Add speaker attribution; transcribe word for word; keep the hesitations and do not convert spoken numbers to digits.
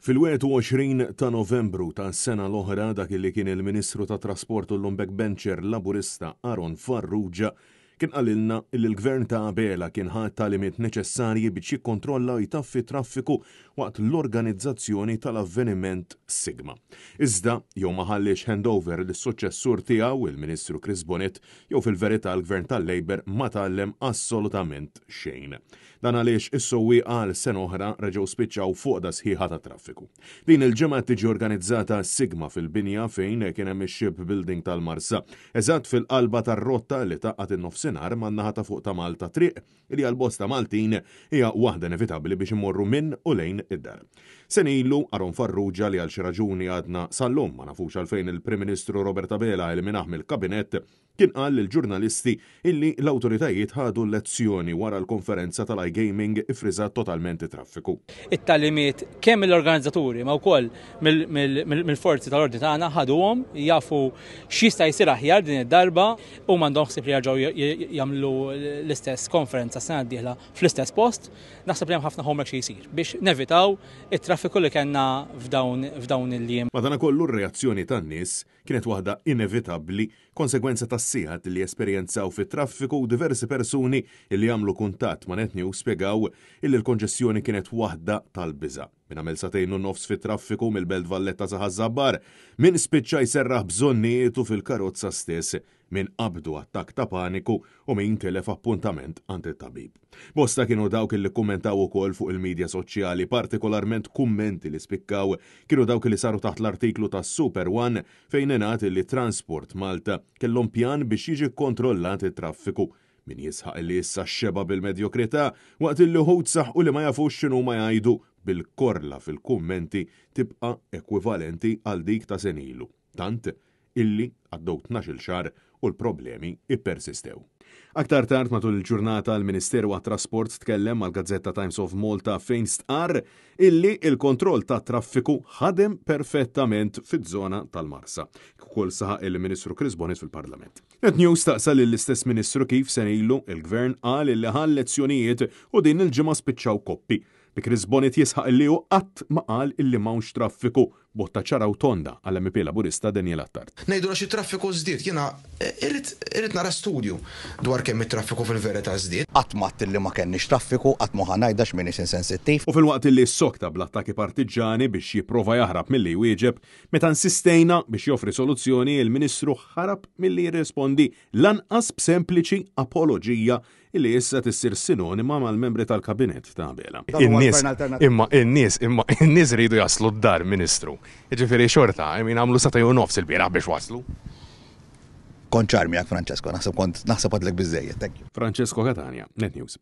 Speaker 1: Fil-wieħed u għoxrin ta' Novembru tas-sena l-oħra, dak li kien il-Ministru tat-Trasport u llum backbencher Laburista Aaron Farrugia kien qalilna li l-Gvern ta' Abela kien ħa t-tagħlimiet neċessarji biex jikkontrolla u jtaffi traffiku waqt l-organizzazzjoni tal-avveniment Sigma. Iżda jew ma ħalliex handover lis-suċċessur tiegħu, il-Ministru Chris Bonett, jew fil-verità l-Gvern tal-Labour ma tgħallem assolutament xejn. Dan għaliex is-sewwieqa għal sena oħra reġgħu spiċċaw fuq da sħiħa ta' traffiku. Din il-ġimgħa tiġi organizzata Sigma fil-binja fejn kien hemm ix-ship building tal-Marsa, eżatt fil-qalba tar-rotta li tgħaqqad in-nofsinhar man-naħa ta' fuq ta' Malta, triq li għal bosta Maltin hija waħda inevitabbli biex imorru minn u lejn id-dar. Sena ilu Aaron Farrugia, li għal xi raġuni għadna sal-lum ma nafux għalfejn il-Prim Ministru Robert Abela eliminah mill-kabinett, kien qal lill-ġurnalisti illi l-awtoritajiet ħadu lezzjoni wara l-konferenza tal-iGaming iffriżat totalment it-traffiku.
Speaker 2: It-tagħlimiet kemm mill-organizzaturi ma wkoll mill-forzi tal-ordni tagħna ħaduhom, jafu x'jista' jsir aħjar din id-darba u m'għandhom ħsieb li jerġgħu jagħmlu l-istess konferenza sena d-dieħla fl-istess post. Naħseb li hemm ħafna homework xi jsir biex nevitaw it-traffiku li kellna f'dawn il-jiem.
Speaker 1: Madankollu r-reazzjoni tan-nies kienet waħda inevitabbli, konsegwenza tas-sigħat li esperjenzaw fit-traffiku, u diversi persuni li għamlu kuntatt ma' Net News spjegaw illi l-konġestjoni kienet waħda tal-biża'. Min għamel sagħtejn u nofs fit-traffiku mill-Belt Valletta sa Ħaż-Żabbar, min spiċċa jserraħ bżonnietu fil-karozza stess, min qabdu attakk ta' paniku u min tilef appuntament għand it-tabib. Bosta kienu dawk li kummentaw ukoll fuq il-medja soċjali, partikolarment kummenti li spikkaw kienu dawk li saru taħt l-artiklu ta' Super One fejn ingħad li Transport Malta kellhom pjan biex jiġi kontrollat it-traffiku. Min jisħaq li issa xeba bil-medjokrità, waqt li wħud saħqu li ma jafux x'inhu ma jgħidu, bil-korla fil-kummenti tibqa' ekwivalenti għal dik ta' sena ilu. Tant illi għaddew tnax-il xahar u l-problemi ippersistew. Aktar tard matul il-ġurnata l-Ministeru għat-Trasport tkellem mal-Gazzetta Times of Malta fejn stqarr illi il-kontroll ta' traffiku ħadem perfettament fiż-żona tal-Marsa. Ukoll saħaq il-Ministru Chris Bonett fil-Parlament. Net News staqsa lill-istess Ministru kif sena ilu il-Gvern qal illi ħa lezzjonijiet u din il-ġimgħa spiċċaw koppi. Bi Chris Bonett jisħaq illi hu qatt ma qal illi m'hawnx traffiku, botta ċara u tonda għall-M P Laburista Daniel Attard.
Speaker 3: Ngħidu għax it-traffiku żdied, jiena irrid, irrid nara studju dwar kemm it-traffiku fil-verità żdied.
Speaker 4: Qatt ma għedt li ma kenniex traffiku, qatt ma ħa ngħidha għax m'iniex insensittiv.
Speaker 1: U filwaqt illi ssokta bl-attakki partiġġani biex jipprova jaħrab milli jwieġeb, meta insistejna biex joffri soluzzjoni, il-Ministru ħarab milli jirrispondi lanqas b'sempliċi apoloġija illi issa tissir sinonima mal-membri tal-kabinett ta' Abela.
Speaker 4: Dan huwa
Speaker 5: In-nies,
Speaker 4: gvern alternattiv.
Speaker 5: imma in-nies, imma in-nies iridu jaslu d-dar, Ministru. Jiġifieri xorta, I mean, għamlu sagħtejn u nofs il-bieraħ biex waslu.
Speaker 4: Kont ċar miegħek, Francesco, naħseb kont naħseb għadlek biżejjed, thank you.
Speaker 1: Francesco Catania, Net News.